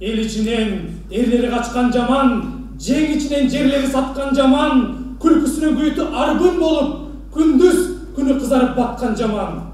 эл ичинен эрлери качкан жаман, жең ичинен жерлери саткан жаман, күлкүсүнүн күйүтү арбын болуп, күндүз күнү кызарып баткан жаман.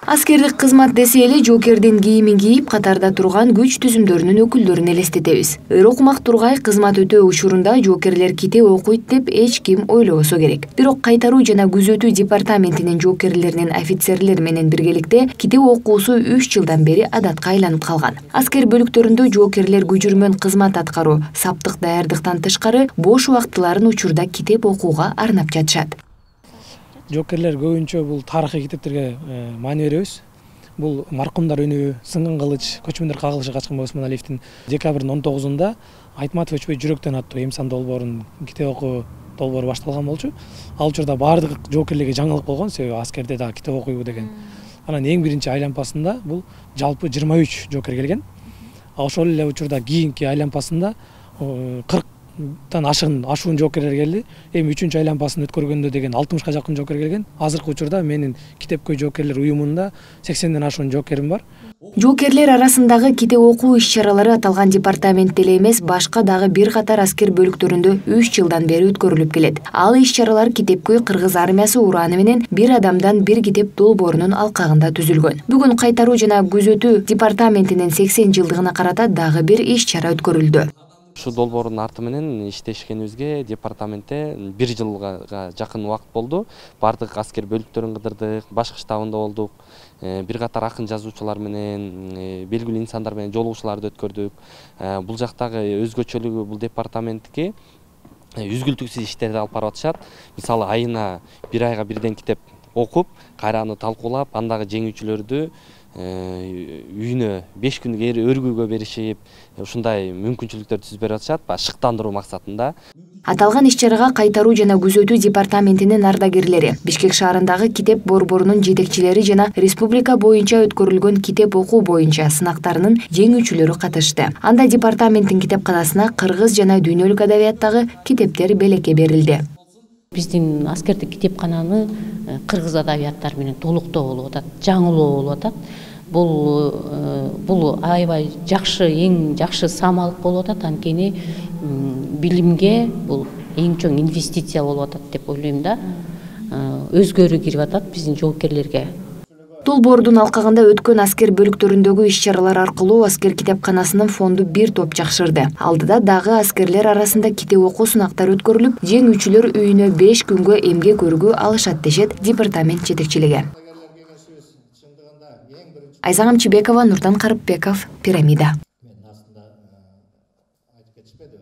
Аскердик кызмат десе эле жоокердин кийимин кийип катарда турган күч түзүмдөрүнүн өкүлдөрүн элестетебиз. Өрөкмак Тургай кызмат өтөө учурунда жоокерлер китеп окуйт деп эч ким ойлобосо керек. Бирок кайтаруу жана күзөтүү департаментинин жоокерлеринин офицерлер менен биргеликте китеп окуусу 3 жылдан бери адатка айланып калган. Аскер бөлүктөрүндө жоокерлер күжүрмөн кызмат аткаруу, саптык даярдыктан тышкары бош убактыларын учурда китеп окууга арнап жатышат. Жоокерлер көбүнчө бул тарыхый китептерге маани беребиз. Бул Маркумдар үнү, Сынган кылыч, Көчмөндөр кагылышы качкан Осмоналиевдин декабрдын 19-unda Айтматов өчпөй жүрөктөн аттуу эмсан долбоорунун китеп окуу долбоору башталган болчу. Ал учурда баардык жоокерлерге жаңылык болгон, себеби аскерде дагы китеп окуйбу деген. Анан эң биринчи айлампасында бул жалпы 23 жоокер келген. Ошол эле учурда кийинки айлампасында 40 ашуун жоокерлер келди. Эми 3-үчү айлампасын өткөргөндө деген 60га жакын жоокер келген. Азыркы учурда менин Китепкөй жоокерлер уюмунда 80ден ашуун жоокерим бар. Жоокерлер арасындагы китеп окуу иш-чаралары аталган департаментте эле эмес, башка дагы бир катар аскер бөлүктөрүндө 3 жылдан бери өткөрүлүп келет. Ал иш-чаралар Китепкөй кыргыз армиясы ураны менен бир адамдан бир китеп долбоорунун алкагында түзүлгөн. Бүгүн кайтаруу жана күзөтүү департаментинин 80 жылдыгына карата дагы бир иш-чара өткөрүлдү. Ушу долбоордун арты менен иштешкенибизге департаментте 1 жылга жакын убакыт болду. Бардык аскер бөлүктөрүн кыдырдык, башкы штабында болдук. Бир катар акын жазуучулар менен, белгилүү инсандар менен жолугушууларды өткөрдүк. Бул жактагы өзгөчөлүгү бул департаментке үзгүлтүксүз иштерди алып барып атышат. Мисалы айына 1 айга бирден китеп окуп, кайра аны талкуулап, андагы жеңүүчүлөрдү үйүнө 5 күнгө өргүүгө беришип, ушундай мүмкүнчүлүктөр түзүп берип атышат, шыктандыруу максатында. Аталган иш-чарага кайтаруу жана күзөтүү департаментинин ардагерлери, Бишкек шаарындагы китеп борборунун жетекчилери жана республика боюнча өткөрүлгөн китеп окуу боюнча сынактарынын жеңүүчүлөрү катышты. Анда департаменттин китепканасына кыргыз жана дүйнөлүк адабияттагы китептер белекке берилди. Биздин аскердик китепкананы кыргыз адабияттары менен толуктоо болуп атат, жаңылоо болуп атат. Бул аябай жакшы, эң жакшы самалык болуп атат. Анткени билимге бул эң чоң инвестиция болуп атат деп ойлойм да. Өзгөрүү кирип атат биздин жоокерлерге. Долбоордун алкагында өткөн аскер бөлүктөрүндөгү иш-чаралар аркылуу аскер китепканасынын фонду бир топ жакшырды. Алдыда дагы аскерлер арасында китеп окуу сынактары өткөрүлүп, жеңүүчүлөр үйүнө 5 күнгө эмгек өргүү алышат дешет департамент жетекчилиги. Айзагам Чибекова, Нурдан Карыпбеков, Пирамида.